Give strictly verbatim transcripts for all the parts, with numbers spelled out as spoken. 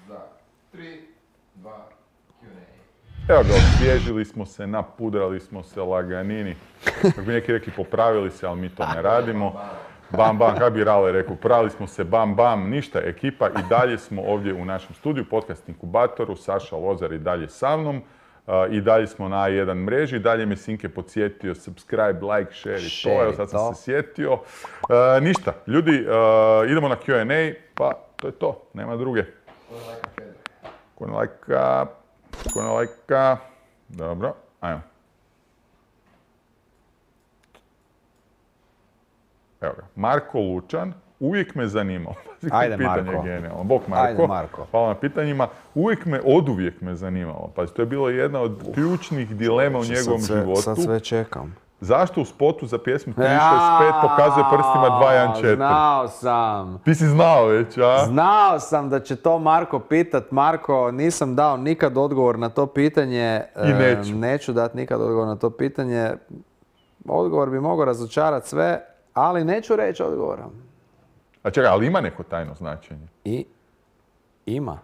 za tri, dva, Q and A. Evo ga, osvježili smo se, napudrali smo se, laganini. Kako bi neki rekli, popravili se, ali mi to ne radimo. Bam, bam, kako bi Rale rekao, pravili smo se, bam, bam, ništa, ekipa i dalje smo ovdje u našem studiju, podcast inkubatoru, Saša Lozar i dalje sa mnom. Uh, I dalje smo na A jedan mreži, dalje me Sinke podsjetio, subscribe, like, share i to, evo sad sam se sjetio. Uh, ništa, ljudi, uh, idemo na Q and A, pa to je to, nema druge. Ko ne lajka, ko ne lajka, dobro, ajmo. Evo ga, Marko Lučan, uvijek me zanimao. Ajde, pitanje Marko. Genijalno. Bog Marko. Ajde, Marko. Hvala na pitanjima. Uvijek me, oduvijek me zanimalo. Pa to je bilo jedna od ključnih dilema u njegovom sad sve, životu. Sad sve čekam. Zašto u spotu za pjesmu tri šest pet pokazuje prstima dva jedan četiri? Znao sam. Ti si znao već, a? Znao sam da će to Marko pitat. Marko, nisam dao nikad odgovor na to pitanje. I neću. E, neću dati nikad odgovor na to pitanje. Odgovor bi mogao razočarati sve, ali neću reći odgovora. A čekaj, ali ima neko tajno značenje? I ima.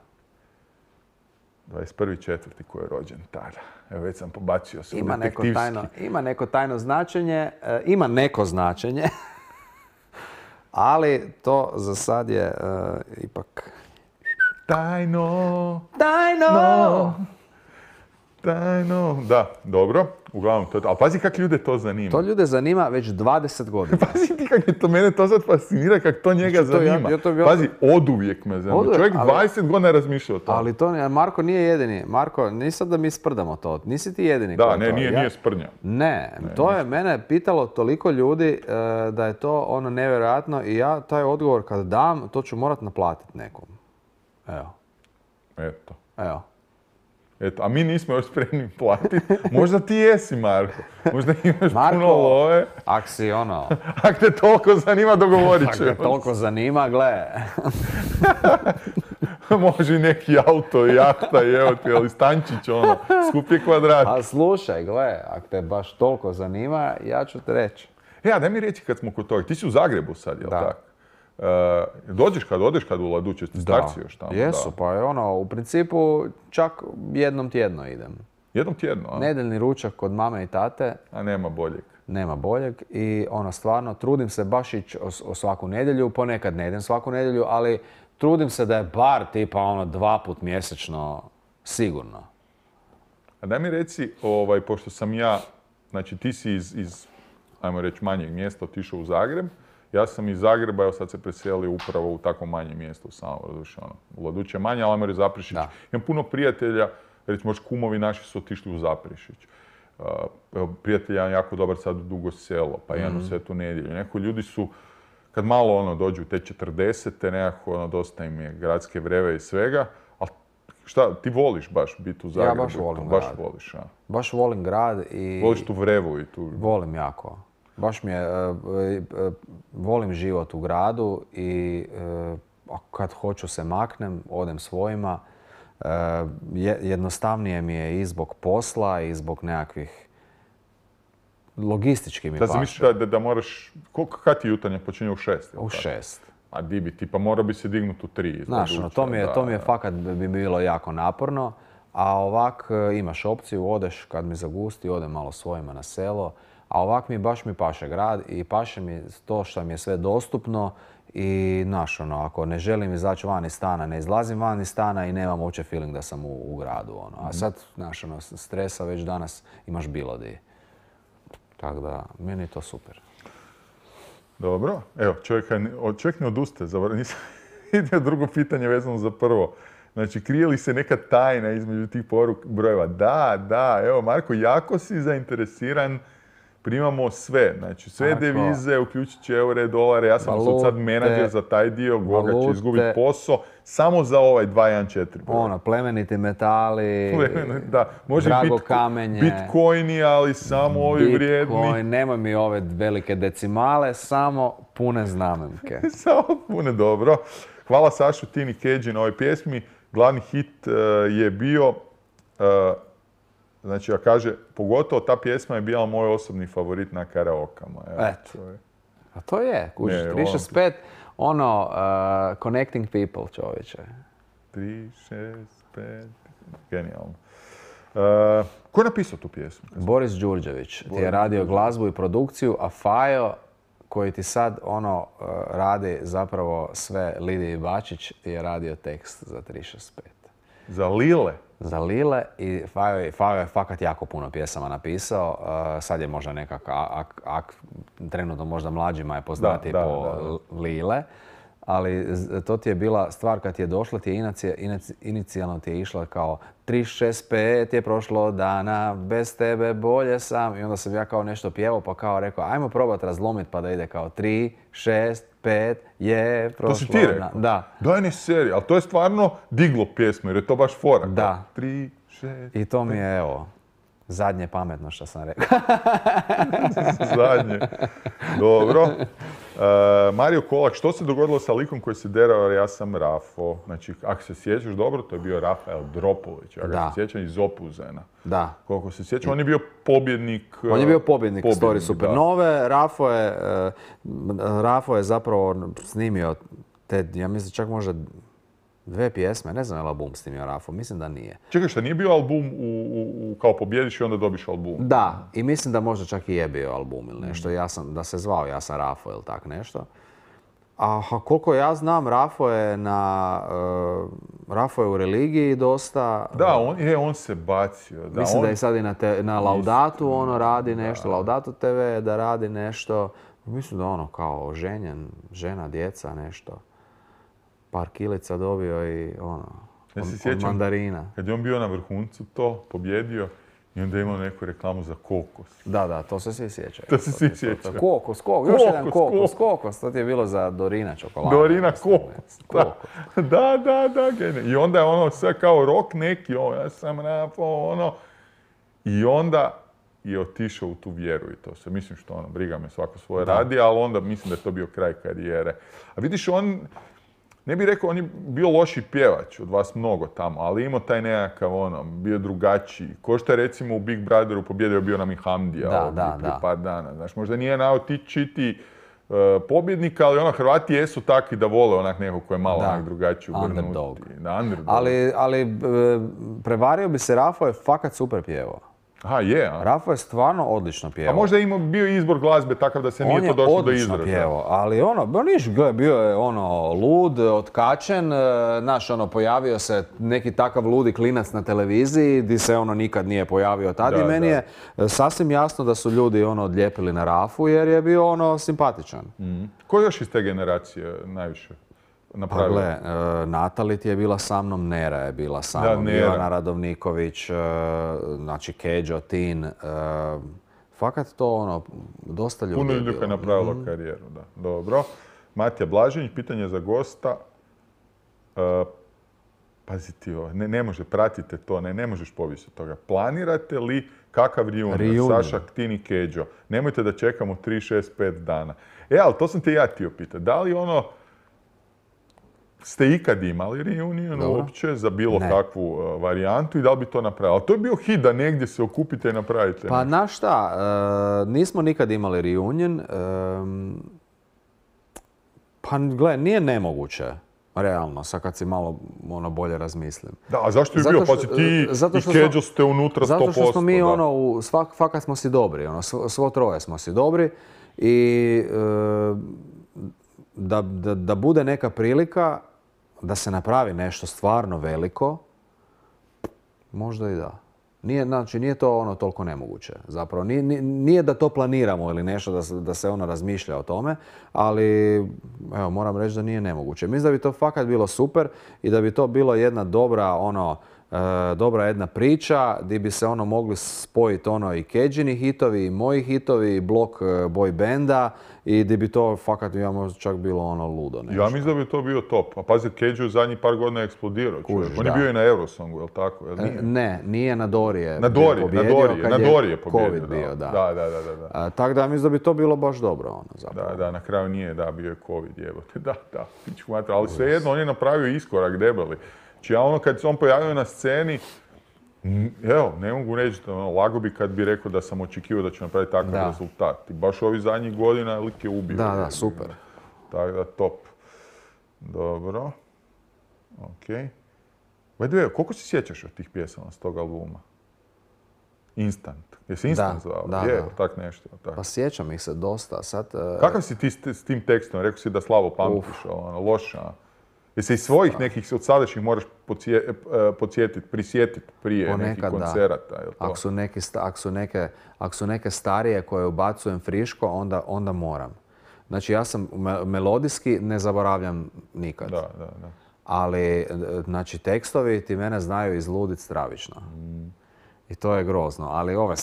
dvadeset prvi četvrti ko je rođen tada. Evo već sam pobacio se Ima u neko, detektivski. tajno, ima neko tajno značenje, e, ima neko značenje, ali to za sad je e, ipak... Tajno, Tajno! no, tajno. Da, dobro. Uglavnom, to je to. Ali pazi kak ljude to zanima. To ljude zanima već dvadeset godina. Pazi ti kak je to, mene to sad fascinira kak to njega Znači, to ja- zanima. ja to- ja- Pazi, oduvijek me zanima. Oduvijek, Čovjek ali- dvadeset godina razmišlja o tome. Ali to ne, Marko nije jedini. Marko, nisam da mi sprdamo to. Nisi ti jedini. Da, koji ne, to. nije, Ja- nije sprnja. Ne, to je mene pitalo toliko ljudi e, da je to ono nevjerojatno i ja taj odgovor kad dam, to ću morat naplatiti nekom. Evo, Eto. evo. Eto, a mi nismo još spremni platiti. Možda ti jesi, Marko. Možda imaš Marko, puno love. Ak si ono, Ako te toliko zanima, dogovorit ak ćemo. te toliko zanima, gle. Može i neki auto, jahta, i evo ti, ali stančić, ono, skuplji kvadrat. A slušaj, gle, ak te baš toliko zanima, ja ću te reći. E, a daj mi reći kad smo kod toga. Ti si u Zagrebu sad, jel Da. tako? E, dođeš kad odeš kad u Laduće, ti starci još tamo? Jesu, Da. pa je ono, u principu čak jednom tjedno idem. Jednom tjedno, a? Nedeljni ručak kod mame i tate, A nema boljeg. nema boljeg i ono stvarno trudim se baš ići o, o svaku nedjelju, ponekad ne idem svaku nedjelju, ali trudim se da je bar tipa ono dva put mjesečno sigurno. A daj mi reci, ovaj, pošto sam ja, znači ti si iz, iz ajmo reći, manjeg mjesta otišao u Zagreb, ja sam iz Zagreba, evo sad se preselio upravo u tako manje mjesto u Samoru, doduše ono, u Laduće manje, ali ajmo reći Zaprešić. Da. Imam puno prijatelja, recimo kumovi naši su otišli u Zaprešić. Uh, evo, prijatelj jedan jako dobar sad u Dugo Selo, pa jedan u Svetu Nedjelju. Neko ljudi su, kad malo ono dođu u te četrdesete, nekako ono, dosta im je gradske vreve i svega, ali šta, ti voliš baš biti u Zagrebu? baš volim Baš grad. voliš, a? Baš volim grad i... Voliš tu vrevu i tu... Volim jako. Baš mi je, e, e, volim život u gradu i e, a kad hoću se maknem, odem svojima. E, je- jednostavnije mi je i zbog posla i zbog nekakvih logistički mi Da si paše. misliš da, da, da moraš... Koliko, kad ti jutarnje počinje u šest? jel U tako? šest. A di bi, tipa morao bi se dignuti u tri. iz Znaš, ono, Laduća, to mi je, da, to mi je da. fakat bi bilo jako naporno, a ovak e, imaš opciju, odeš kad mi zagusti, odem malo svojima na selo, a ovak mi baš mi paše grad i paše mi to što mi je sve dostupno i znaš, ono, ako ne želim izaći van iz stana, ne izlazim van iz stana i nemam uopće feeling da sam u, u gradu, ono. A sad, znaš, ono, stresa već danas imaš bilo di. Tako da, meni je to super. Dobro. Evo, čovjek, čovjek ne odustaje. Zavrlo, nisam vidio drugo pitanje vezano za prvo. Znači, krije li se neka tajna između tih poruk brojeva? Da, da. Evo, Marko, jako si zainteresiran. Primamo sve. Znači, sve Marko. devize, uključujući eure, dolare. Ja sam Valute. sad menadžer za taj dio. Goga će Valute. izgubiti posao. Samo za ovaj dva jedan četiri broj. Ono, plemeniti metali, Da, može drago bitko- kamenje. bitcoini, ali samo ovi vrijedni. Bitcoin, nemoj mi ove velike decimale, samo pune znamenke. Samo pune dobro. Hvala Sašu Tini Keđi na ovoj pjesmi. Glavni hit uh, je bio, uh, znači ja kaže, pogotovo ta pjesma je bila moj osobni favorit na karaokama. Evo, Eto. to je. A to je, kužiš, Ne, tri šest pet, ono, uh, connecting people, čovječe. tri, šest, pet, genijalno. Uh, ko je napisao tu pjesmu? Boris Đurđević ti je radio glazbu i produkciju, a Fajo koji ti sad ono uh, radi zapravo sve, Lidiji Bačić ti je radio tekst za tri šest pet. Za Lile? Za Lile i Fajo je, Fajo je fakat jako puno pjesama napisao. Uh, sad je možda nekak, ak, ak, trenutno možda mlađima je poznati Da, da, po da, da. Lile. Ali z- to ti je bila stvar kad ti je došla, ti je inicija, inici- inicijalno ti je išla kao tri šest pet je prošlo dana, bez tebe bolje sam. I onda sam ja kao nešto pjevao pa kao rekao ajmo probat razlomit pa da ide kao tri šest pet je prošlo. To si ti rekao? dan. Da. Daj ne seri, ali to je stvarno diglo pjesmu jer je to baš fora. Da. Tri, šest, I to mi je evo, zadnje pametno što sam rekao. zadnje. Dobro. Uh, Mario Kolak, što se dogodilo sa likom koji se derao jer ja sam Rafo? Znači, ako se sjećaš dobro, to je bio Rafael Dropulić. Ja ga Da. se sjećam iz Opuzena. Da. Koliko se sjećam, on je bio pobjednik... On je bio pobjednik Story pobjednik, Supernove. Rafo je, eh, Rafo je zapravo snimio te, ja mislim čak možda dve pjesme, ne znam je li album snimio Rafo, mislim da nije. Čekaj, šta nije bio album u, u, u kao pobjediš i onda dobiš album? Da, i mislim da možda čak i je bio album ili nešto, ja sam, da se zvao Ja sam Rafo ili tak nešto. A koliko ja znam, Rafo je na, uh, Rafo je u religiji dosta. Da, on, je, on se bacio. Da, Mislim on, da je sad i na, te, na Laudatu ono radi nešto, Laudatu te ve da radi nešto. Mislim da ono kao ženjen, žena, djeca, nešto. Par kilica dobio i ono, Ja od, se od sjećam mandarina. kad je on bio na vrhuncu to, pobjedio i onda je imao neku reklamu za kokos. Da, da, to se svi sjećaju. To se svi to- to- sjećaju. Kokos, kokos, još jedan Kokos, kokos, kokos. To ti je bilo za Dorina čokoladu. Dorina mislim, kokos. ne, Da, kokos. da, da, da, genijalno. I onda je ono sve kao rock neki, o, ja sam Rafo, ono. I onda je otišao u tu vjeru i to se. Mislim što ono, briga me, svako svoje radi, ali onda mislim da je to bio kraj karijere. A vidiš, on, ne bih rekao, on je bio loši pjevač, od vas mnogo tamo, ali imao taj nekakav ono, bio drugačiji. Ko što je recimo u Big Brotheru pobjedio bio nam i Hamdija Da, ovdje da, prije da. par dana. Znaš, možda nije naotičiti uh, pobjednika, ali ono, Hrvati jesu takvi da vole onak nekog koji je malo Da. onak drugačiji ugrnuti. Underdog. Da, underdog. Ali, ali e, prevario bi se, Rafo je fakat super pjevao. Aha, je, a? Rafo je stvarno odlično pjevao. A možda je imao bio izbor glazbe takav da se nije On to je došlo do odlično izražaja. pjevao, ali ono, ba niš, gle, bio je ono lud, otkačen, e, znaš, ono, pojavio se neki takav ludi klinac na televiziji, di se ono nikad nije pojavio tad Da, i meni da. je e, sasvim jasno da su ljudi ono odlijepili na Rafu jer je bio ono simpatičan. Ko još iz te generacije najviše Pa napravio? gle, e, Natalit je bila sa mnom, Nera je bila sa Da, mnom, Nera. Ivana Radovniković, e, znači Keđo, Tin, e, fakat to ono, dosta ljudi Puno je ljudi bilo. je napravilo karijeru, da. Dobro. Matija Blažinić, pitanje za gosta. E, pazi ti ovo, ne, ne može, pratite to, ne, ne možeš povisi od toga. Planirate li kakav reunion? Reunion. Saša, Tin i Keđo. Nemojte da čekamo tri, šest, pet dana. E, ali to sam te ja htio pitati. Da li ono, ste ikad imali reunion Dobro. uopće za bilo Ne. kakvu uh, varijantu i da li bi to napravili? Ali to je bio hit da negdje se okupite i napravite. Pa nešto. znaš šta, e, nismo nikad imali reunion. e, pa gle, nije nemoguće, realno, sad kad si malo ono bolje razmislim. Da, a zašto je Zato bio? što- Pa si ti zato i što Keđo smo- ste unutra sto posto. Zato što smo mi da. ono, u svak, fakat smo si dobri, ono, svo, svo troje smo si dobri i e, da, da, da bude neka prilika da se napravi nešto stvarno veliko, možda i da. Nije, znači, nije to ono toliko nemoguće. Zapravo, nije, nije- nije da to planiramo ili nešto, da se, da se ono razmišlja o tome, ali evo, moram reći da nije nemoguće. Mislim da bi to fakat bilo super i da bi to bilo jedna dobra, ono, e, dobra jedna priča gdje bi se ono mogli spojiti ono i Keđini hitovi i moji hitovi i blok e, boy benda i gdje bi to fakat ja možda čak bilo ono ludo nešto. Ja mislim da bi to bio top. A pazi, Keđo je zadnjih par godina eksplodirao. čovjek. Kužiš, On je da. bio i na Eurosongu, je li tako? Jel E, nije? Ne, nije na Dorije Na Dorije, na pobjedio Dorije, kad na je Dorije pobjedio. Covid bio, da. Da, da, da, da, da. A, tako da mislim da bi to bilo baš dobro, ono, zapravo. Da, da, na kraju nije, da, bio je Covid, jebote, da, da, pičku mater. Ali svejedno, on je napravio iskorak debeli. Znači ja ono, kad se on pojavio na sceni, m, evo, ne mogu reći, da, ono, lago bi kad bi rekao da sam očekivao da će napraviti takav Da. rezultat. I baš ovih zadnjih godina lik je ubio. Da, da, super. Tako da, top. Dobro. Ok. By the way, koliko se sjećaš od tih pjesama s tog albuma? Instant. Jesi Instant zvao? Da, je, da. tak nešto. Tak. Pa sjećam ih se dosta. Sad, uh... Kakav si ti s, s tim tekstom? Rekao si da slabo pamtiš, ono, loša. Jesi iz svojih nekih od sadašnjih moraš podsje, podsjetiti, prisjetiti prije nekih koncerata? Da. Ako su, neki, ako, su neke, ako su neke starije koje ubacujem friško, onda, onda moram. Znači ja sam me, melodijski ne zaboravljam nikad. Da, da, da. Ali, znači, tekstovi ti mene znaju izluditi stravično. Mm. I to je grozno. Ali ove,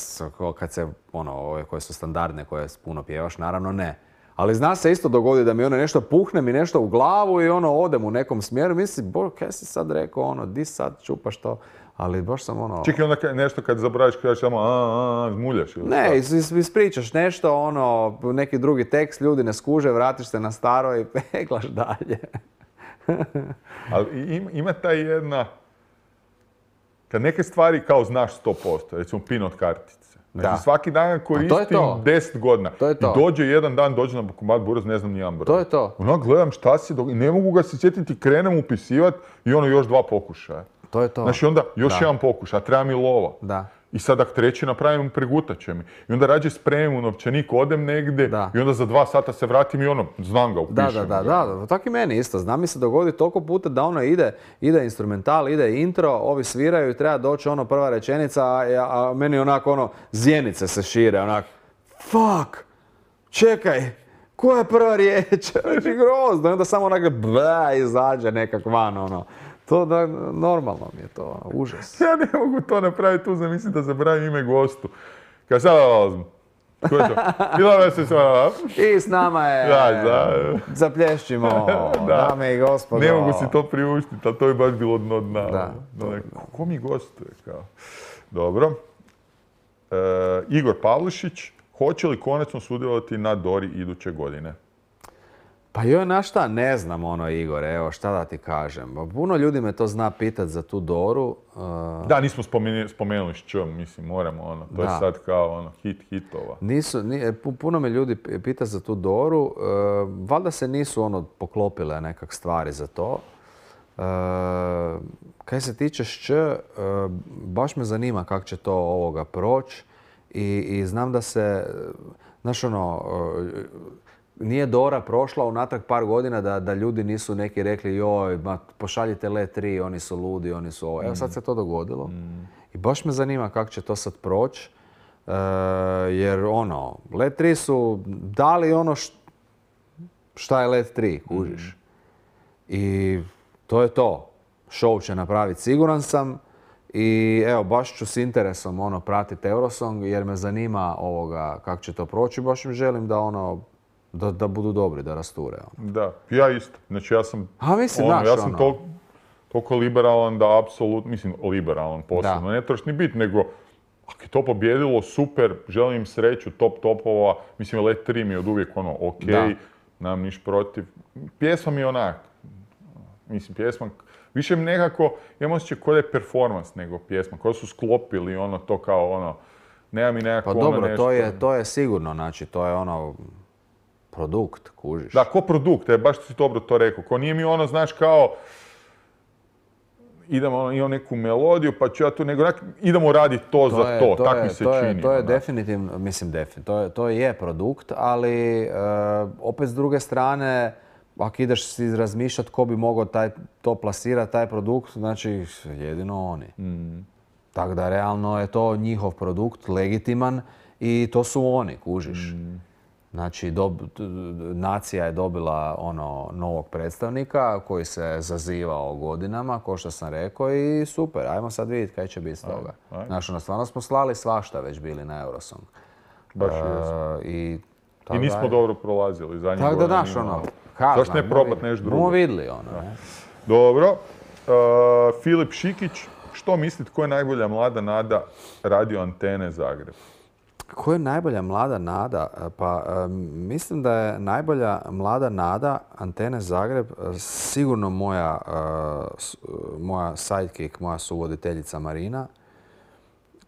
kad se, ono, ove koje su standardne, koje puno pjevaš, naravno ne. Ali zna se isto dogodi da mi ono nešto puhne mi nešto u glavu i ono odem u nekom smjeru. Mislim, bo, kaj si sad rekao, ono, di sad čupaš to? Ali baš sam ono... Čekaj, onda nešto kad zaboraviš, kažeš samo a, a, zmuljaš ili ne, is, ispričaš nešto, ono, neki drugi tekst, ljudi ne skuže, vratiš se na staro i peglaš dalje. Ali ima, ima ta jedna... Kad neke stvari kao znaš sto posto, recimo pin od kartice. Znači da. Svaki dan koristim deset godina. To je to. I dođe jedan dan, dođe na bankomat Buraz, ne znam nijedan broj. To je to. Ono, gledam šta se događa, ne mogu ga se sjetiti, krenem upisivati i ono još dva pokušaja. To je to. Znači onda još da. jedan pokušaj, a treba mi lova. Da. I sad ako treći napravim, pregutat će mi. I onda rađe spremim u novčanik, odem negdje da. I onda za dva sata se vratim i ono, znam ga, upišem. Da, da, da, da. Tako i meni isto. Znam mi se dogodi toliko puta da ono ide, ide instrumental, ide intro, ovi sviraju i treba doći ono prva rečenica, a, a meni onako ono, zjenice se šire, onako, fuck, čekaj, koja je prva riječ? Znači grozno. I onda samo onako, bla, izađe nekak van, ono. To da, normalno mi je to, užas. Ja ne mogu to napraviti, tu zamislim da zabravim ime gostu. Kad sad dolazim. Ko je to? Bila se sva. I s nama je, da, da. Zaplješćimo, da. Dame i gospodo. Ne mogu si to priuštiti, ali to je baš bilo dno dna. Da. Da, ko mi gostuje? Kao? Dobro. E, Igor Pavlišić, hoće li konačno sudjelovati na Dori iduće godine? Pa joj, na šta, ne znam ono, Igore, evo, šta da ti kažem. Puno ljudi me to zna pitat za tu Doru. Uh... Da, nismo spomenuli, spomenuli s čom, mislim, moramo ono, to da. Je sad kao ono, hit hitova. Nisu, nije, puno me ljudi pita za tu Doru, uh, valjda se nisu ono poklopile nekak stvari za to. Uh, kaj se tiče šć, uh, baš me zanima kako će to ovoga proći i, i znam da se, znaš ono, uh, nije Dora prošla unatrag par godina da, da ljudi nisu neki rekli joj, ma, pošaljite Let tri, oni su ludi, oni su ovo. Evo sad se to dogodilo. Mm. I baš me zanima kako će to sad proći. E, jer ono, Let tri su dali ono š, šta je Let tri, kužiš. Mm. I to je to. Show će napraviti, siguran sam. I evo, baš ću s interesom ono, pratiti Eurosong jer me zanima ovoga kako će to proći. Baš im želim da ono, Da, da budu dobri, da rasture. Ono. Da, ja isto. Znači ja sam, A, mislim, ono, naš, ja sam ono. toliko, toliko liberalan da apsolutno, mislim liberalan posebno, ne trebaš ni biti, nego ako je to pobjedilo, super, želim im sreću, top topova, mislim Let tri mi je od uvijek ono, ok, da. Nemam niš protiv. Pjesma mi je onak, mislim pjesma, više mi nekako, imam osjećaj kao da je performans nego pjesma, kao su sklopili ono to kao ono, nema mi nekako pa ono dobro, nešto. to je, to je sigurno, znači to je ono, produkt, kužiš. Da, ko produkt, je, baš si dobro to rekao. Ko nije mi ono, znaš, kao idemo, ono, imam neku melodiju, pa ću ja tu, nego nek, idemo raditi to, to za je, to, to tako mi se to čini. Je, to je definitivno, mislim definitivno, to je, to je produkt, ali e, opet s druge strane, ako ideš si razmišljati ko bi mogao taj, to plasirati, taj produkt, znači jedino oni. Mm. Tako da realno je to njihov produkt, legitiman i to su oni, kužiš. Mm. Znači, dob, nacija je dobila ono novog predstavnika koji se zazivao godinama, kao što sam rekao, i super, ajmo sad vidjeti kaj će biti s toga. Aj, aj. Znači, ono, stvarno smo slali svašta već bili na Eurosong. Baš uh, I, I nismo aj. dobro prolazili zadnjih godina. Tako da, znaš, ono, kazna. Zašto ne probati nešto drugo? Bomo vidjeli, ono, ne? Dobro. Uh, Filip Šikić, što mislite, ko je najbolja mlada nada Radio Antene Zagreb? Ko je najbolja mlada nada? Pa mislim da je najbolja mlada nada Antene Zagreb sigurno moja, moja sidekick, moja suvoditeljica Marina,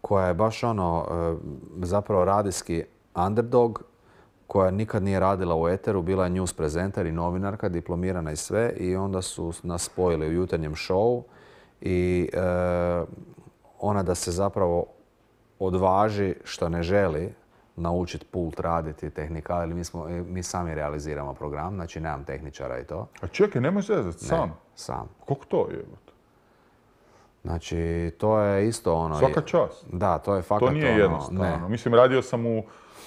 koja je baš ono zapravo radijski underdog, koja nikad nije radila u eteru, bila je news prezenter i novinarka, diplomirana i sve, i onda su nas spojili u jutarnjem showu i e, ona da se zapravo odvaži što ne želi naučiti pult raditi, tehnikali, ali mi, smo, mi sami realiziramo program, znači nemam tehničara i to. A čekaj, nemaš zezat, sam? Ne, sam. Koliko to je? Znači, to je isto ono... Svaka čast. Da, to je fakat To nije ono, jednostavno. ne. Mislim, radio sam u,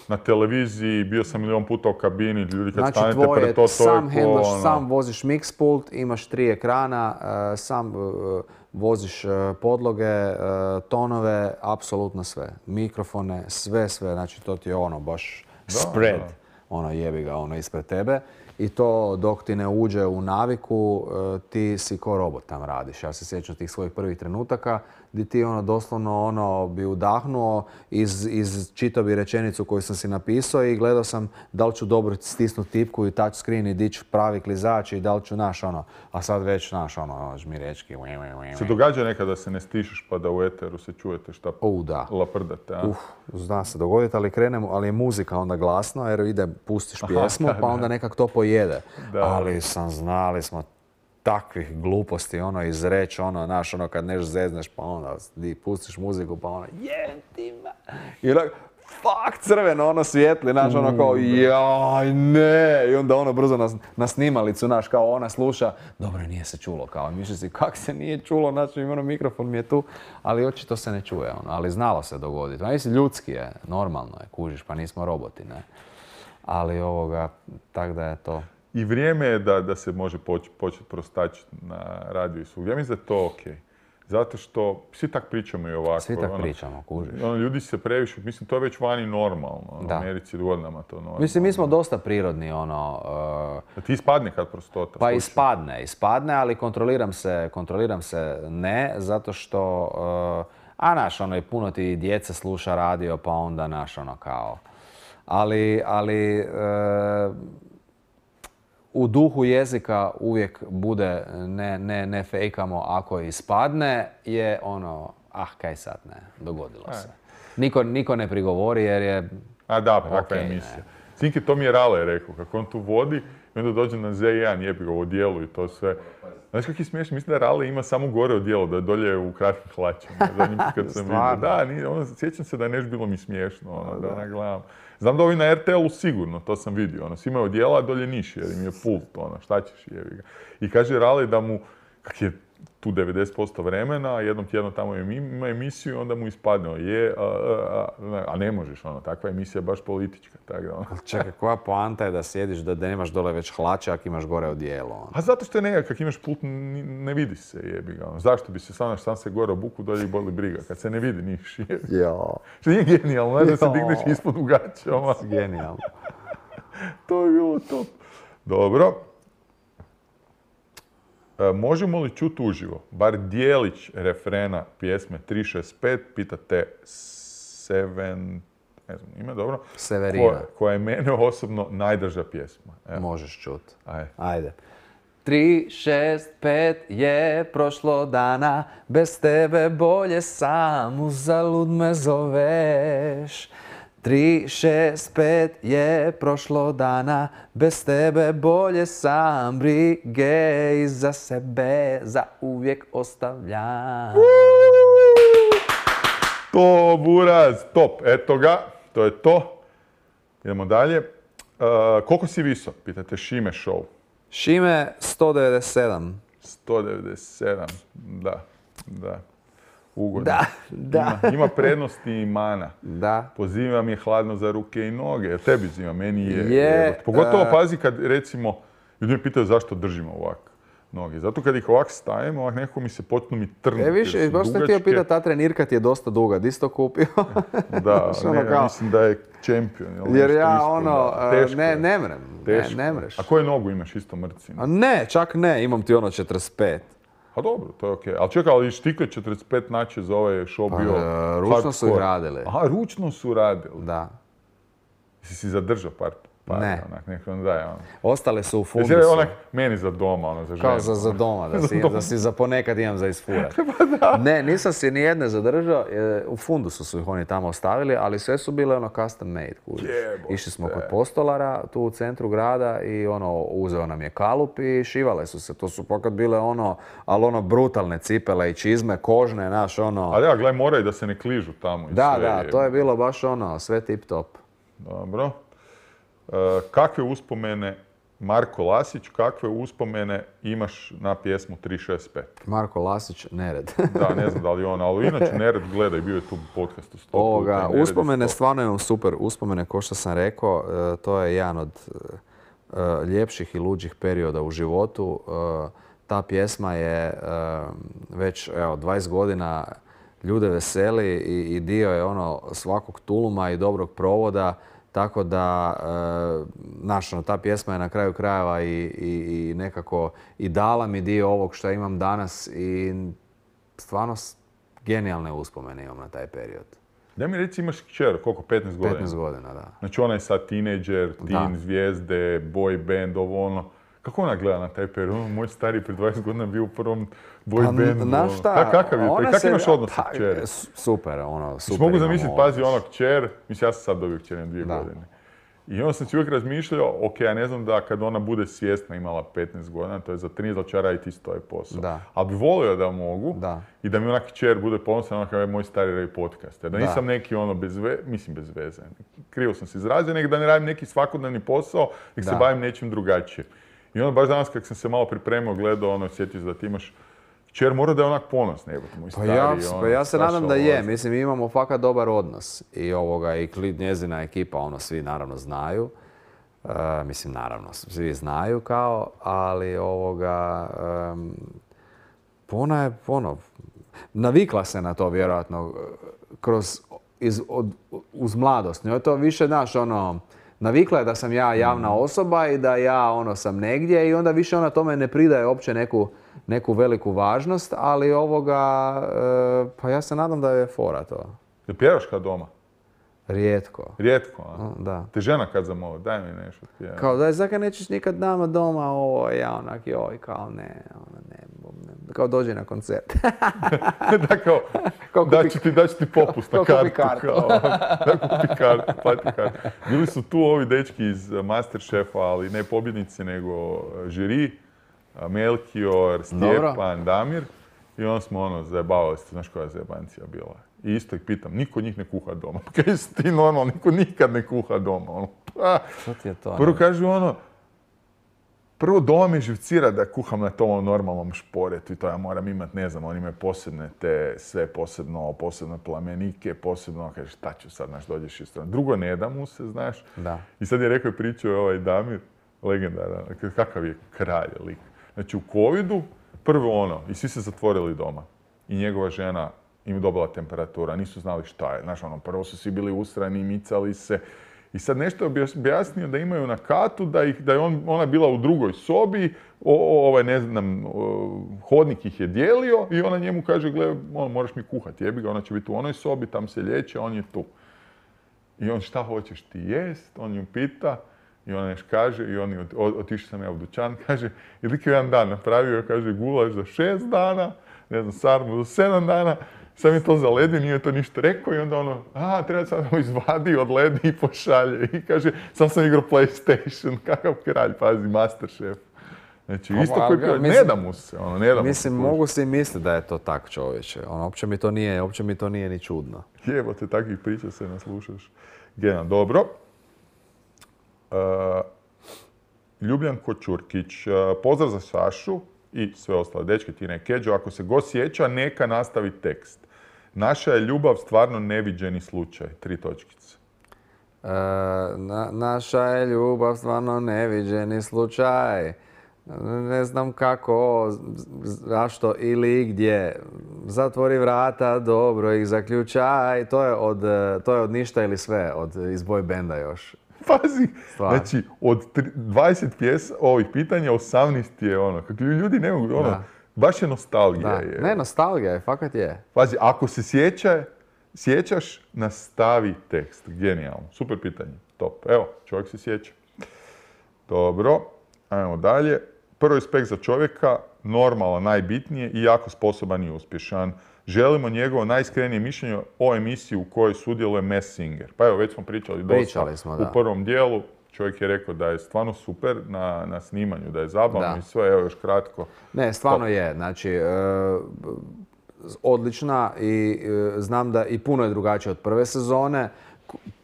na televiziji, bio sam milion puta u kabini, ljudi kad Znači, stanete tvoje, pred to, to sam je ko, handlaš, ono... sam voziš mix pult, imaš tri ekrana, uh, sam uh, voziš uh, podloge, uh, tonove, apsolutno sve. Mikrofone, sve, sve. Znači, to ti je ono, baš Da, spread. da. Ono, jebi ga, ono, ispred tebe. I to dok ti ne uđe u naviku, uh, ti si ko robot tam radiš. Ja se sjećam tih svojih prvih trenutaka gdje ti ono doslovno ono bi udahnuo, iz, iz čitao bi rečenicu koju sam si napisao i gledao sam da li ću dobro stisnuti tipku i touch screen i dići pravi klizač i da li ću naš ono, a sad već naš ono žmirečki. Se događa nekada da se ne stišeš pa da u eteru se čujete šta U, da. laprdate, a? Uf, zna se dogoditi, ali krenemo, ali je muzika onda glasno jer ide, pustiš pjesmu pa onda nekak to pojede. Da. Ali sam, znali smo takvih gluposti, ono, izreći, ono, znaš, ono, kad neš zezneš, pa onda di pustiš muziku, pa ono, jem ti ma. I onak, fuck, crveno, ono, svijetli, znaš, ono, kao, jaj, ne. I onda ono, brzo na, na snimalicu, znaš, kao ona sluša, dobro, nije se čulo, kao, i misli si, kak se nije čulo, znači, ono, mikrofon mi je tu, ali očito se ne čuje, ono, ali znalo se dogoditi. Mislim, ljudski je, normalno je, kužiš, pa nismo roboti, ne. Ali ovoga, tak da je to. I vrijeme je da, da se može poč, početi prostačiti na radiju i svugdje. Ja mislim da je to okej. Zato što svi tak pričamo i ovako. Svi tak ono, pričamo, kužiš. Ono, ljudi se previše, mislim, to je već vani normalno. Ono, Da. u Americi godinama to normalno. Mislim, mi smo dosta prirodni, ono... uh, Da ti ispadne kad prostota. Pa slušaj. ispadne, ispadne, ali kontroliram se, kontroliram se ne, zato što, uh, a naš, ono, i puno ti djece sluša radio, pa onda naš, ono, kao. Ali, ali, uh, u duhu jezika uvijek bude, ne, ne, ne fejkamo, ako ispadne, je ono, ah, kaj sad, ne, dogodilo se. Niko, niko ne prigovori jer je... A da, pa takva okej, emisija. ne. Cinki, to mi je Rale rekao, kako on tu vodi i onda dođe na Z jedan, jebi ga u odijelu i to sve. Znaš kak je smiješno? Mislim da Rale ima samo gore odijelo, da je dolje u kratkim hlačama. Zadnji put kad sam vidio. Stvarno? Da, nije, ono, sjećam se da je nešto bilo mi smiješno, ono, da ne gledam. Znam da ovi na er te el-u sigurno, to sam vidio, ono, svi imaju odijela, a dolje niš, jer im je pult, ono, šta ćeš, jebi ga. I kaže Rale da mu, kak je tu devedeset posto vremena, jednom tjedno tamo ima emisiju i onda mu ispadne, je, a, a, a, a ne možeš, ono, takva emisija je baš politička, tako da, ono. Čekaj, koja poanta je da sjediš, da, da nemaš dole već hlače, ako imaš gore odijelo? Ono. A zato što je nekak, kak imaš pult, ni- ne vidi se, jebi ga, ono. Zašto bi se sam, sam se gore obuku, dolje i boli briga, kad se ne vidi niš, jebi. Jo, Što nije genijalno, ne, da se Jo. digneš ispod u gaćama. genijalno. To je bilo top. Dobro. E, možemo li čuti uživo, bar dijelić refrena pjesme tri šest pet, pitate Seven, ne znam, ime dobro, Severina. koja, koja je mene osobno najdrža pjesma. Evo, Možeš čut. ajde. Ajde. Tri, šest, pet je prošlo dana, bez tebe bolje sam, uzalud me zoveš. Tri, šest, pet je prošlo dana, bez tebe bolje sam, brige iza sebe za uvijek ostavljam. To, buraz, top, eto ga, to je to. Idemo dalje. E, koliko si visok, pitate Šime Show. Šime sto devedeset sedam. sto devedeset sedam, da, da. Ugodno. Da, da. Ima, ima prednosti i mana. Da. Pozivam je hladno za ruke i noge, jer tebi zima, meni je. Je, evo, pogotovo e, pazi kad, recimo, ljudi me pitaju zašto držimo ovak noge. Zato kad ih ovak stavim, ovak nekako mi se počnu mi trnuti. E, više, jer su baš sam htio dugačke. pitati, ta trenirka ti je dosta duga, di si to kupio? Da, Znaš, ono ne, kao- mislim da je čempion. ili Jer nešto ja ispod, ono, da. e, Teško ne, je. ne mrem, ne, Teško ne je. mreš. A koju nogu imaš isto mrci? A ne, čak ne, imam ti ono četrdeset pet. A dobro, to je okej. Ali čekaj, ali štikle četrdeset pet naće za ovaj show Pa, bio e, ručno su ih hardcore. radili. Aha, ručno su radili. Da. Jesi si zadržao par par, Ne. onak, nek vam daje, ono. Ostale su u Jesi fundusu. onak meni za doma, ono, za ženu. Kao za, za doma, da si, da si za ponekad imam za isfurat. Pa Ne, nisam si ni jedne zadržao, e, u fundusu su ih oni tamo ostavili, ali sve su bile ono custom made, kužiš. Jebote. Išli smo kod postolara, tu u centru grada i ono, uzeo nam je kalup i šivale su se. To su pokad bile ono, ali ono brutalne cipele i čizme, kožne, naš ono. Ali ja, gledaj, moraju da se ne kližu tamo i Da, sve. da, to je bilo baš ono, sve tip top. Dobro. E, kakve uspomene, Marko Lasić, kakve uspomene imaš na pjesmu tri šest pet? Marko Lasić, Nered. Da, ne znam da li on, ali inače Nered gleda i bio je tu u podcastu sto Ovoga, puta. i Nered uspomene je sto. stvarno imam super uspomene, kao što sam rekao, e, to je jedan od e, e, ljepših i luđih perioda u životu. E, ta pjesma je e, već evo, dvadeset godina ljude veseli i, i dio je ono svakog tuluma i dobrog provoda, tako da e, naš, ono, ta pjesma je na kraju krajeva i, i, i nekako i dala mi dio ovog što imam danas i stvarno s- genijalne uspomene imam na taj period. Da mi reci, imaš kćer, koliko, petnaest godina? petnaest godina, da. Znači ona je sad tinejdžer, teen, Da. zvijezde, boy band, ovo ono. Kako ona gleda na taj period? Ono, moj stari prije dvadeset godina bio u prvom boy Pa, bandu. znaš ono. šta, Ka- Kakav je to? ona I kak se- imaš odnos pa, sa kćeri? s- Super, ono, Znači, super. mogu imamo zamisliti, pazi, odnos. ono kćer, mislim, ja sam sad dobio kćer na dvije Da. godine. I onda sam si uvijek razmišljao, ok, ja ne znam da kad ona bude svjesna, imala petnaest godina, to je za trinaest da će raditi isto ovaj posao. Da. Ali bi volio da mogu Da. i da mi onak kćer bude ponosan, ono kao je moj stari radi podcast. Jer da Da. nisam neki ono bez veze, mislim bez veze, krivo sam se izrazio, nego da ne radim neki svakodnevni posao, nek se Da. bavim nečim drugačijim. I onda baš danas kad sam se malo pripremio, gledao, ono, sjetio se da ti imaš kćer, mora da je onak ponosna, evo, moj Pa stari. ja, ono, pa ja se strašno nadam da je, vozi. mislim imamo fakat dobar odnos i ovoga i kli- njezina ekipa, ono svi naravno znaju, E, mislim naravno svi znaju kao, ali ovoga, em, ona je ono, navikla se na to vjerojatno kroz, iz, od, uz mladost, njoj je to više, znaš, ono, navikla je da sam ja javna osoba i da ja ono sam negdje i onda više ona tome ne pridaje uopće neku, neku veliku važnost, ali ovoga, e, pa ja se nadam da je fora to. Da pjevaš kad doma? Rijetko. Rijetko, a? Mm, Da. Te žena kad zamoli, daj mi nešto. pjevaj. Kao da je zakaj nećeš nikad nama doma, ovo, ja onak, joj, kao ne, ono, ne, ne, kao dođi na koncert. da kao, Kao da kupi- ću ti, da ću ti popust na kao kupi kartu. kartu. Kao, da kupi kartu, plati kartu. Bili su tu ovi dečki iz Masterchefa, ali ne pobjednici, nego žiri, Melchior, Stjepan, Damir. I onda smo ono, zajebavali se, znaš koja je zajebancija bila. I isto ih pitam, niko od njih ne kuha doma. Pa kaj si ti normalno, niko nikad ne kuha doma. Ono, pa, Što ti je to? prvo ne? kažu ono, prvo doma me živcira da kuham na tom normalnom šporetu i to ja moram imat, ne znam, oni imaju posebne te, sve posebno, posebne plamenike, posebno, kaže, šta ću sad, znaš, dođeš iz strane. Drugo, ne da mu se, znaš. Da. I sad je rekao i pričao je ovaj Damir, legendaran, kakav je kralj lik. Znači u covidu, prvo ono, i svi se zatvorili doma. I njegova žena im je dobila temperatura, nisu znali šta je. Znaš, ono, prvo su svi bili ustrani, micali se. I sad nešto je objasnio da imaju na katu, da, ih, da je on, ona bila u drugoj sobi, o, o, ovaj, ne znam, o, hodnik ih je dijelio i ona njemu kaže, gle, on, moraš mi kuhati, jebi ga, ona će biti u onoj sobi, tam se liječe, on je tu. I on, šta hoćeš ti jest? On ju pita i ona nešto kaže i on je ot- o- otišao sam ja u dućan, kaže, i lik je jedan dan napravio, kaže, gulaš za šest dana, ne znam, sarmu za sedam dana, sam je to zaledio, nije to ništa rekao i onda ono, a, treba sad ovo izvadi, odledi i pošalje. I kaže, sam sam igrao PlayStation, kakav kralj, pazi, Masterchef. Znači, Pa, isto pa, koji ga- pjeva, ne mislim- da mu se, ono, ne da mu Mislim, se. mogu si misliti da je to tak čovječe. Ono, uopće mi to nije, uopće mi to nije ni čudno. Jebote, takvih priča se naslušaš. Gena, dobro. Uh, Ljubljanko Ćurkić, uh, pozdrav za Sašu i sve ostale dečke, Tina i Keđo. Ako se go sjeća, neka nastavi tekst. Naša je ljubav stvarno neviđeni slučaj. Tri točkice. E, na, naša je ljubav stvarno neviđeni slučaj. Ne znam kako, z- zašto ili gdje. Zatvori vrata, dobro ih zaključaj. To je od, e, to je od ništa ili sve, od, iz boy benda još. Pazi, Stvarno. znači od tri- dvadeset pjes, ovih pitanja, osamnaest je ono, kako ljudi ne mogu, ono, Da. baš je nostalgija. Da. Je. Ne, nostalgija je, fakat je. Pazi, ako se sjeća, sjećaš, nastavi tekst. Genijalno. Super pitanje. Top. Evo, čovjek se sjeća. Dobro, ajmo dalje. Prvi respekt za čovjeka, normalan, najbitnije i jako sposoban i uspješan. Želimo njegovo najiskrenije mišljenje o emisiji u kojoj sudjeluje Masked Singer. Pa evo, već smo pričali dosta Pričali smo, da. u prvom dijelu. Čovjek je rekao da je stvarno super na, na snimanju, da je zabavno Da. i sve, evo još kratko. Ne, stvarno je. Znači, e, odlična i e, znam da i puno je drugačija od prve sezone.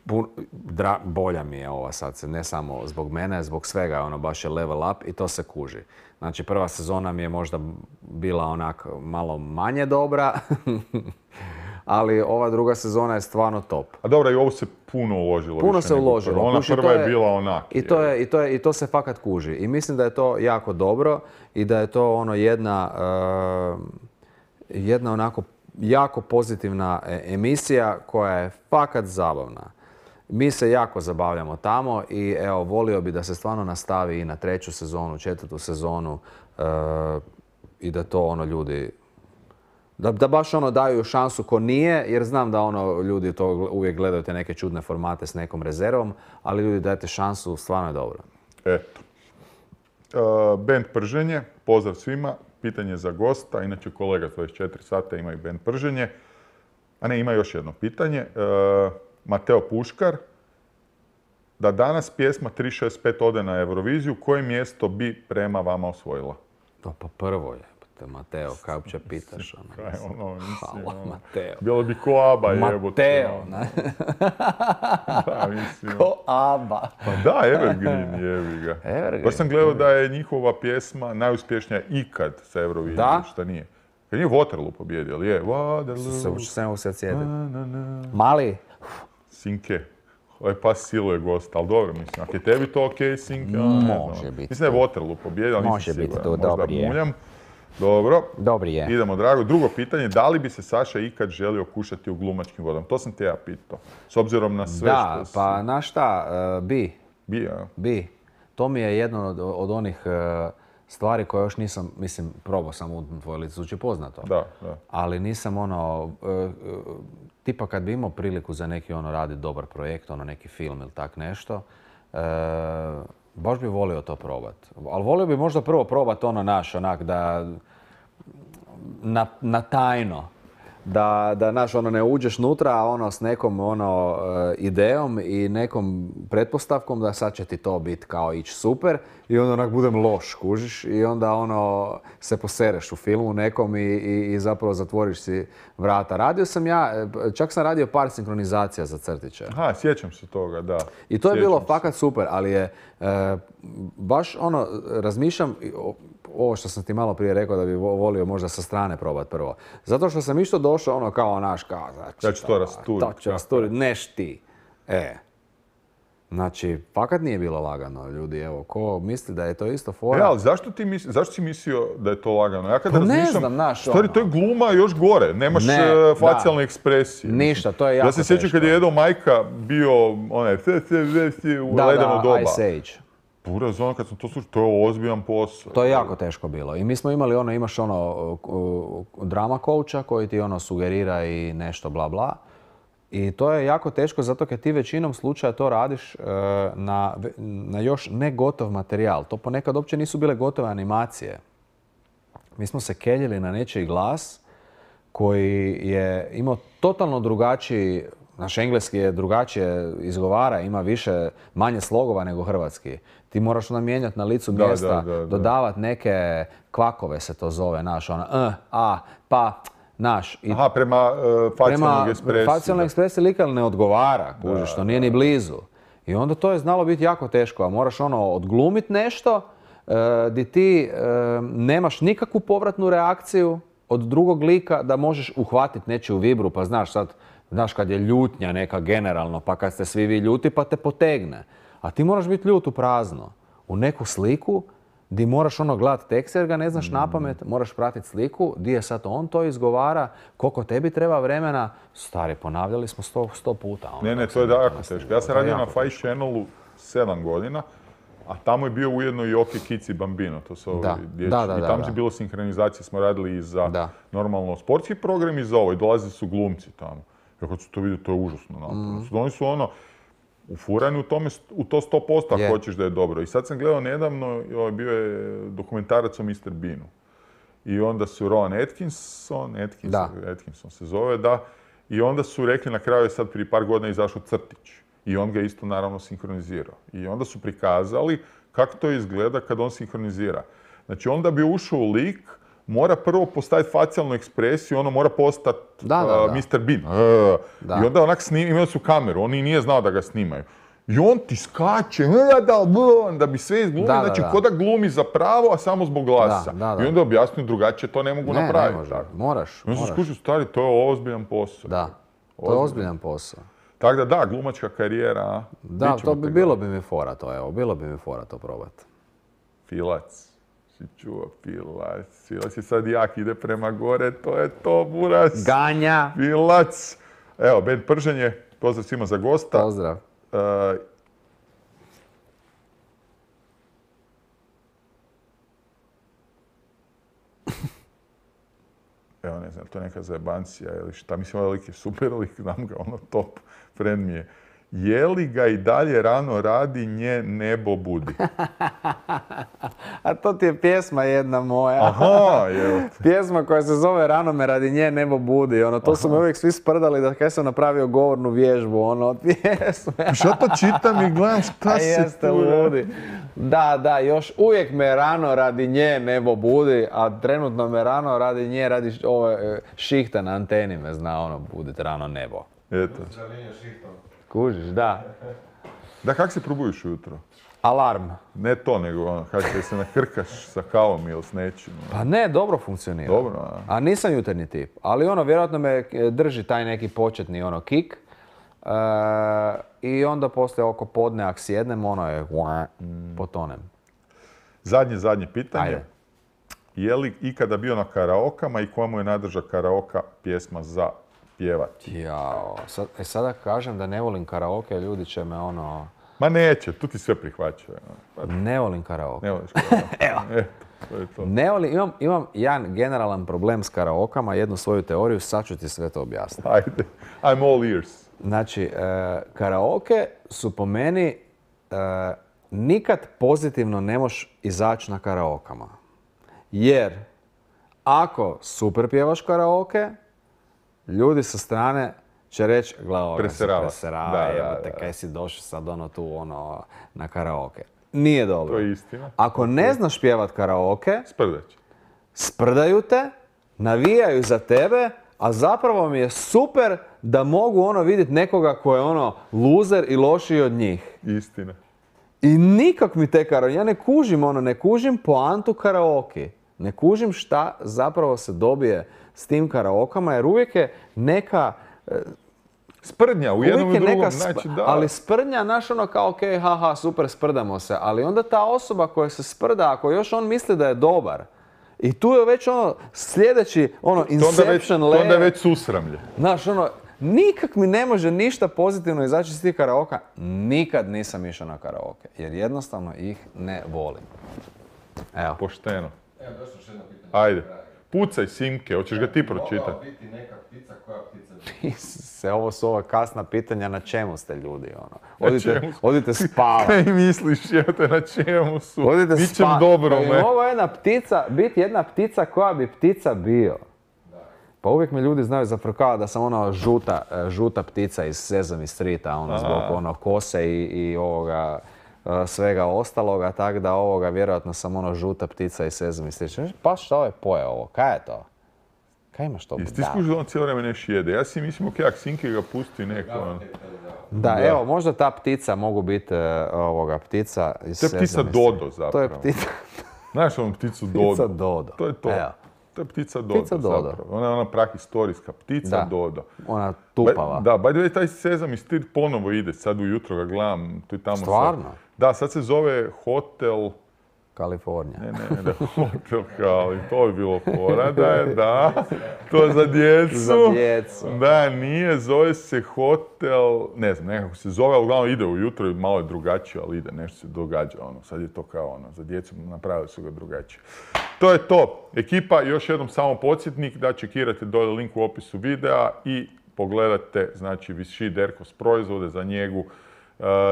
Pun- dra- bolja mi je ova sad, ne samo zbog mene, zbog svega, ono baš je level up i to se kuži. Znači, prva sezona mi je možda bila onak malo manje dobra, ali ova druga sezona je stvarno top. A dobro, i ovo se puno uložilo. Puno više se nego uložilo. prva. Ona Kuži, prva to je bila onak. I to, je, i, to je, I to se fakat kuži. I mislim da je to jako dobro i da je to ono jedna, uh, jedna onako jako pozitivna e- emisija koja je fakat zabavna. Mi se jako zabavljamo tamo i evo, volio bi da se stvarno nastavi i na treću sezonu, četvrtu sezonu uh, i da to ono ljudi Da, da baš ono daju šansu ko nije, jer znam da ono ljudi to uvijek gledaju te neke čudne formate s nekom rezervom, ali ljudi dajte šansu, stvarno je dobro. Eto. Uh, band Prženje, pozdrav svima. Pitanje za gosta, inače kolega dvadeset četiri sata ima i band Prženje. A ne, ima još jedno pitanje. Uh, Mateo Puškar, da danas pjesma tri šest pet ode na Euroviziju, koje mjesto bi prema vama osvojila? To pa prvo je, Mateo, kaj uopće pitaš? Ono, Kaj ono, mislim, hvala, ono, Mateo. bilo bi ko Aba jebote. Mateo, ono. ne? Da, mislim. Ko Aba. Pa da, Evergreen jebi ga. Evergreen. Baš sam gledao da je njihova pjesma najuspješnija ikad sa Eurovizijom, Da? šta nije. Jer nije Waterloo pobjedio, ali je Se Waterloo. uči se ne mogu se sjetiti. na, na, na. Mali? Sinke. Ovaj pas siluje gost, ali dobro, mislim, ako je tebi to okej, Sinke, a, ne znam. Može biti. Mislim da je Waterloo pobjedio, ali Može nisam biti siguran, to, možda dobar je. muljam. Dobro, Dobri je. idemo drago. Drugo pitanje, da li bi se Saša ikad želio kušati u glumačkim vodama? To sam te ja pitao, s obzirom na sve Da, što si... pa na šta, e, bi, Bija, a? bi. To mi je jedno od, od onih e, stvari koje još nisam, mislim, probao sam u tvoje lice, zvuči poznato. Da, da. Ali nisam ono, e, e, tipa kad bi imao priliku za neki ono raditi dobar projekt, ono neki film ili tak nešto, e, baš bi volio to probat. Ali volio bi možda prvo probat ono naš, onak da, na, na tajno. Da, da naš, ono, ne uđeš nutra, a ono s nekom ono, e, idejom i nekom pretpostavkom da sad će ti to biti kao ići super i onda onak budem loš, kužiš, i onda ono se posereš u filmu nekom i, i, i zapravo zatvoriš si vrata. Radio sam ja, e, čak sam radio par sinkronizacija za crtiće. Aha, sjećam se toga, da. I to je Sjećam bilo se. fakat super, ali je e, baš ono, razmišljam, o- ovo što sam ti malo prije rekao da bi vo- volio možda sa strane probat prvo. Zato što sam isto došao ono kao naš, kao, znači, Ja ću to rasturit, To ću kako rasturit, neš ti. E. Znači, fakat nije bilo lagano, ljudi, evo, ko misli da je to isto fora. E, ali zašto, ti misli, zašto si mislio da je to lagano? Ja kad Pa ne razmišljam, znam, znaš, stvari, ono. to je gluma još gore, nemaš Ne, e, da. facijalne ekspresije. Ništa, to je jako Ja se sjećam teško. kad je Edo Majka bio, onaj, se, se, se, u Da, ledeno da, doba. Ice Age. Pura zona, kad sam to slušao, to je ozbiljan posao. To je jako teško bilo. I mi smo imali ono, imaš ono uh, uh, drama coacha koji ti ono sugerira i nešto bla bla. I to je jako teško zato jer ti većinom slučaja to radiš uh, na, na još ne gotov materijal. To ponekad uopće nisu bile gotove animacije. Mi smo se keljili na nečiji glas koji je imao totalno drugačiji, naš engleski je drugačije izgovara, ima više, manje slogova nego hrvatski. Ti moraš onda mijenjati na licu Da, mjesta, da, da, da. dodavati neke kvakove se to zove, naš, ono, uh, a, pa, naš. I Aha, prema uh, facijalnog prema ekspresiji. facijalnoj da. ekspresiji lika ne odgovara, kužiš, to nije ni blizu. I onda to je znalo biti jako teško, a moraš ono odglumit nešto uh, di ti uh, nemaš nikakvu povratnu reakciju od drugog lika da možeš uhvatiti nečiju vibru, pa znaš sad, znaš kad je ljutnja neka generalno, pa kad ste svi vi ljuti pa te potegne. A ti moraš biti ljut u prazno, u neku sliku di moraš ono gledat tekst jer ga ne znaš napamet, moraš pratiti sliku, di je sad on to izgovara, koliko tebi treba vremena. Stari, ponavljali smo sto, sto puta. ono, Ne, ne, dok to je sam da jako nastavio. teško. Ja sam To je radio na jako Five teško. Channelu sedam godina, a tamo je bio ujedno i Oki, Kici, Bambino, to su ovi Da, dječji. da, da, I da, tamo da. je bilo sinhronizacije, smo radili i za Da. normalno sportski program i za ovo. I dolazili su glumci tamo. Ja kad su to vidio, to je užasno naporno. Mhm. Oni su ono, ufuran u, tome, u to sto posto ako Je. hoćeš da je dobro. I sad sam gledao nedavno, ovaj, bio je dokumentarac o mister Beanu. I onda su Rowan Atkinson, Atkinson, Da. Atkinson se zove, da. I onda su rekli na kraju je sad prije par godina izašao crtić. I on ga isto naravno sinkronizirao. I onda su prikazali kako to izgleda kad on sinkronizira. Znači on da bi ušao u lik, mora prvo postaviti facijalnu ekspresiju, ono mora postati Da, da, da. mister Bean. E, Da. I onda onak snim, imali su kameru, on i nije znao da ga snimaju. I on ti skače, "E, da, bl", da bi sve izglumio, Da, da, znači da. ko da glumi za pravo, a samo zbog glasa. Da, da, da. I onda objasnio drugačije, to ne mogu Ne, napraviti. ne može. tako. Moraš, I onda sam moraš. skušao, stari, to je ozbiljan posao. Da, to je Ozbiljan. ozbiljan posao. Tako da da, glumačka karijera, a? Da, Vidit ćemo to bi te bilo gledati. bi mi fora to, evo, bilo bi mi fora to probati. Filac. Si čuo, Filac. Filac je sad jak, ide prema gore, to je to, buras. Ganja! Filac. Evo, Ben Prženje, pozdrav svima za gosta. Pozdrav. E, Evo, ne znam, to je neka zajebancija ili šta. Mislim, ovaj lik je super lik, znam ga, ono top, friend mi je. Je li ga i dalje rano radi, nje nebo budi? A to ti je pjesma jedna moja. Aha, evo te. Pjesma koja se zove Rano me radi nje nebo budi. Ono, to su me uvijek svi sprdali da kaj sam napravio govornu vježbu ono, od pjesme. Šta to čitam i gledam šta A se jeste tu ludi. Da, da, još uvijek me rano radi nje nebo budi, a trenutno me rano radi nje radi š- ove e, šihta na anteni me zna ono budit rano nebo. Eto. Žalinja šihtom. Kužiš, da. Da, kak se probudiš ujutro? Alarm. Ne to, nego ono, kak se nakrkaš sa kavom ili s nečim. ono. Pa ne, dobro funkcionira. Dobro, a? A nisam jutarnji tip, ali ono, vjerojatno me e, drži taj neki početni ono kik. E, I onda poslije oko podne, ako sjednem, ono je, potonem. Zadnje, zadnje pitanje. Ajde. Je li ikada bio na karaokama i komu je najdraža karaoka pjesma za pjevati? Jao, sad, e, sada kažem da ne volim karaoke, ljudi će me ono... Ma neće, tu ti sve prihvaćaju. ono. Pa Ne volim karaoke. ne voliš karaoke. Evo. Eto, to je to. Ne volim, imam, imam jedan generalan problem s karaokama, jednu svoju teoriju, sad ću ti sve to objasniti. Ajde, I'm all ears. Znači, e, karaoke su po meni, e, nikad pozitivno ne možeš izaći na karaokama. Jer, ako super pjevaš karaoke, ljudi sa strane će reći, gle, ovoga se Preserava. preserava, Da, da, jebote, da. kaj si došao sad ono tu, ono, na karaoke. Nije dobro. To je istina. Ako ne znaš pjevat karaoke, Sprdać. sprdaju te, navijaju za tebe, a zapravo mi je super da mogu ono vidjeti nekoga ko je ono luzer i lošiji od njih. Istina. I nikak mi te karaoke, ja ne kužim ono, ne kužim poantu karaoke. Ne kužim šta zapravo se dobije s tim karaokama, jer uvijek je neka... Sprdnja u jednom i uvijek je drugom, neka sp- znači da. Ali sprdnja, znaš ono kao, ok, haha, super, sprdamo se. Ali onda ta osoba koja se sprda, ako još on misli da je dobar, i tu je već ono sljedeći, ono, To onda već, inception to onda je layer. već susramlje. Znaš, ono, nikak mi ne može ništa pozitivno izaći iz tih karaoka. Nikad nisam išao na karaoke, jer jednostavno ih ne volim. Evo. Pošteno. Evo, došlo još jedno pitanje. Ajde. Pucaj Simke, hoćeš ga ti Mogao pročitati? biti neka ptica, koja ptica bi? Se, ovo su ova kasna pitanja, na čemu ste ljudi, ono. Odite, čemu? odite spavati. Kaj misliš, jebote, na čemu su? Odite Ničem spavati. dobrome. Ovo je jedna ptica, biti jedna ptica koja bi ptica bio. Pa uvijek me ljudi znaju zafrkavati da sam ono žuta, e, žuta ptica iz Sesame Streeta, ono, zbog ono kose i, i ovoga e, svega ostaloga, tako da ovoga vjerojatno sam ono žuta ptica iz Sesame Streeta. Pa šta ovaj poje ovo? Kaj je to? Kaj imaš to? Jesi ti Da. skužio da on cijelo vrijeme neš jede? Ja si mislim, ok, ako Simke ga pusti neko, on. Da, Da. evo, možda ta ptica mogu biti e, ovoga ptica iz To je ptica Sesame Dodo Streeta. zapravo. To je ptica, Znaš onu pticu Dodo? ptica Dodo. To je to. Evo. To je ptica Dodo, Ptica Dodo. zapravo. Ona je ona prahistorijska ptica Da. Dodo. Ona Ba- tupava. Da, by the way, taj Sesame Street ponovo ide, sad ujutro ga gledam, tu i tamo. sad- Stvarno? Da, sad se zove Hotel... Kalifornija. Ne, ne, ne, Hotel Kali, to bi bilo fora, da je, da, to je za djecu. Za djecu. Da, nije, zove se Hotel, ne znam, nekako se zove, ali uglavnom ide ujutro i malo je drugačije, ali ide, nešto se događa, ono, sad je to kao ono, za djecu napravili su ga drugačije. To je to. Ekipa, još jednom samo podsjetnik da čekirate dolje link u opisu videa i pogledate, znači, Vichy Derkos proizvode za njegu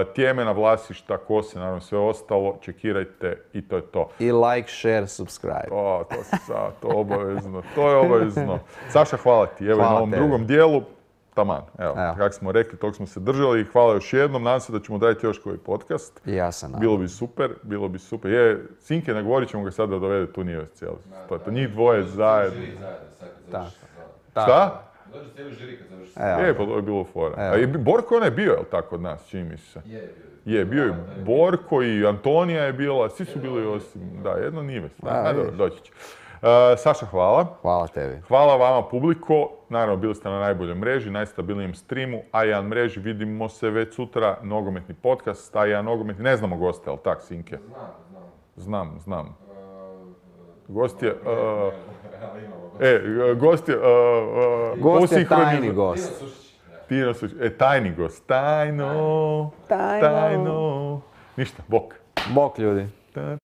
Tjemena, Vlasišta, Kose, naravno sve ostalo, čekirajte i to je to. I like, share, subscribe. O, to se sad, to obavezno, to je obavezno. Saša, hvala ti, evo i Hvala na ovom tebi. drugom dijelu, taman, evo, Evo. kako smo rekli, tog smo se držali, hvala još jednom, nadam se da ćemo raditi još koji podcast. I ja sam nadam. Bilo bi super, bilo bi super. Je, Sinke, nagovorit ćemo ga sad da dovede tu nije cijeli. To je to, njih dvoje zajedno. Žiri zajedno, sad kad Tako. završi sezonu. Šta? Dođe cijeli žiri kad završi Evo. Je, pa to je bilo fora. Evo. A i Borko on je bio, jel tako, od nas, čini mi se? Je, bio je. Je, bio je Borko i Antonija je bila, svi su bili osim, da, jedno Nives. A, Da, dobro, vidiš. doći će. Uh, Saša, hvala. Hvala tebi. Hvala vama, publiko. Naravno, bili ste na najboljoj mreži, najstabilnijem streamu, a jedan mreži. Vidimo se već sutra, nogometni podcast, a jedan nogometni, ne znamo goste, ali tak, Sinke? Znam, znam. Znam, znam. Uh, Gost je, ne, uh, ne, ali imamo goste. e, gost je, uh, uh, Gost je usinhroniz- tajni Tino gost. Sušić. Ja. Tino Sušić, e, tajni gost, tajno, Tajno. tajno. Ništa, bok. Bok ljudi. Ta-